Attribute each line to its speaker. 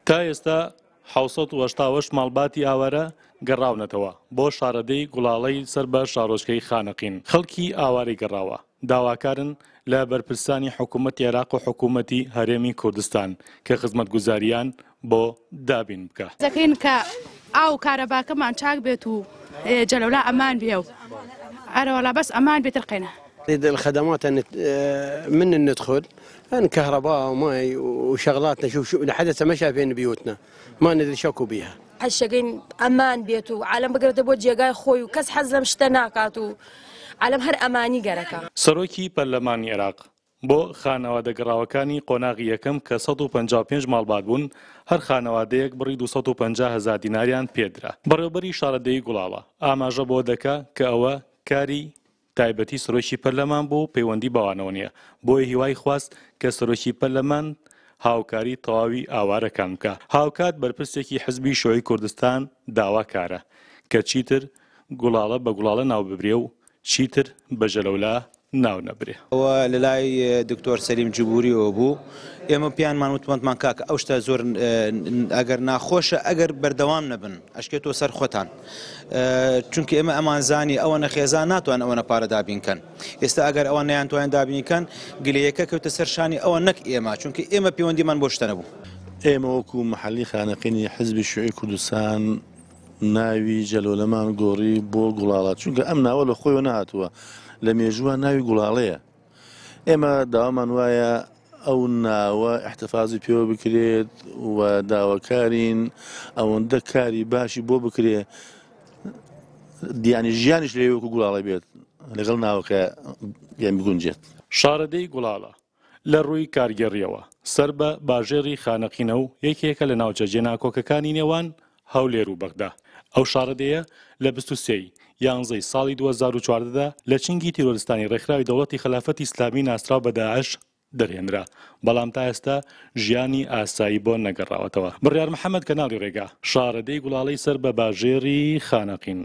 Speaker 1: تا ئێستا 788 ماڵباتی ئاوارە گەڕاونەتەوە بۆ شارەدێی گوڵاڵەی سەر بە شارۆچکەی خانەقین. خەڵکی ئاوارەی گەڕاوە داواکارن لە بەرپرسانی حکوومەتی عێراق و حکوومەتی هەرێمی کوردستان کە خزمەتگوزارییان بۆ دابین بکا.
Speaker 2: دەکەین کە ئاو و کارەباکەمان چاک بێت و جەلەولا ئەمان بێ و ئەرەوەڵا بەس ئەمان بێتر قەینا.
Speaker 3: الخدمات من ندخل ان كهرباء وماي وشغلاتنا شوف شو لحد هسه ما شايفين بيوتنا ما ندري شكو بيها.
Speaker 4: حەشەکەین ئەمان بێت و عالەم بگەرێتە بۆ جێگای خۆی و کەس حەز لەم شتە ناکات و عالەم هەر ئەمانی گەرەکە.
Speaker 1: سەرۆکی پەرلەمانی عێراق بۆ خانەوادە گەڕاوەکانی قۆناغی یەکەم کە 155 ماڵبات بوون، هەر خانەوادەیەک بڕی 250 هەزار دیناریان پێدرا. بەڕێوەبەری شارەدێی گوڵاڵە ئاماژە بەوە دەکا کە ئەوە کاری تایبەتی سەرۆکی پەرلەمان بوو و پەیوەندی بەوانەوە نییە، بۆیە هیوای خواست کە سەرۆکی پەرلەمان هاوکاری تەواوی ئاوارەکان بکا. هاوکات بەرپرسێکی حزبی شیوعی کوردستان داواکارە کە چیتر گوڵاڵە بە گوڵاڵە ناو ببرێ و چیتر بە ژەلەولا ناو نەبرێ.
Speaker 5: ئەوە لە لای دکتۆر سەلیم جبوریەوە بوو، ئێمە پێیانمان وت وتمان کاکە ئەو شتە زۆر ئەگەر ناخۆشە ئەگەر بەردەوام نەبن ئەشکێتەوە سەر خۆتان، چونکە ئێمە ئەمانزانی ئەوەنە خێزان ناتوان ئەوەنە پارە دابین کەن، ئێستا ئەگەر ئەوان نەیانتوانی دابینی کەن گلەیەکە کەوتە سەر شانی ئەوان نەک ئێمە، چونکە ئێمە پەیوەندیمان بۆ شتە نەبوو.
Speaker 6: ئێمە وەکو مەحەلی خانەقینی حزبی شیوعی کوردستان ناوی جەلۆلەمان گۆڕی بۆ گوڵاڵە، چونکە ئەم ناوە لە خۆیەوە نەهاتووە، لە مێژووە ناوی گوڵاڵەیە. ئێمە داوامان وایە ئەو ناوە ئیحتفازی پێوە بکرێت و داواکارین ئەوەندە کاری باشی بۆ بکرێ دیانی ژیانیش لەوێ وەکو گوڵاڵە بێت لەگەڵ ناوەکە یان بگونجێت.
Speaker 1: شارەدێی گوڵاڵە لە ڕووی کارگێڕییەوە سەر بە باژێڕی خانەقینە و یەکێکە لە ناوچە جێناکۆکەکانی نێوان هەولێر و بەغدا. ئەو شارەدێیە لە 23 ی یانزەی ساڵی 2014 دا لە چنگی تیرۆرستانی ڕێکخراوی دەوڵەتی خەلافەتی ئیسلامی ناسراو بە داعش دەرهێنرا، بەڵام تا ئێستا ژیانی ئاسایی بۆ نەگەڕاوەتەوە. بڕیار محەمەد، کەناڵی ڕێگا، شارەدێی گوڵاڵەی سەر بە باژێڕی خانەقین.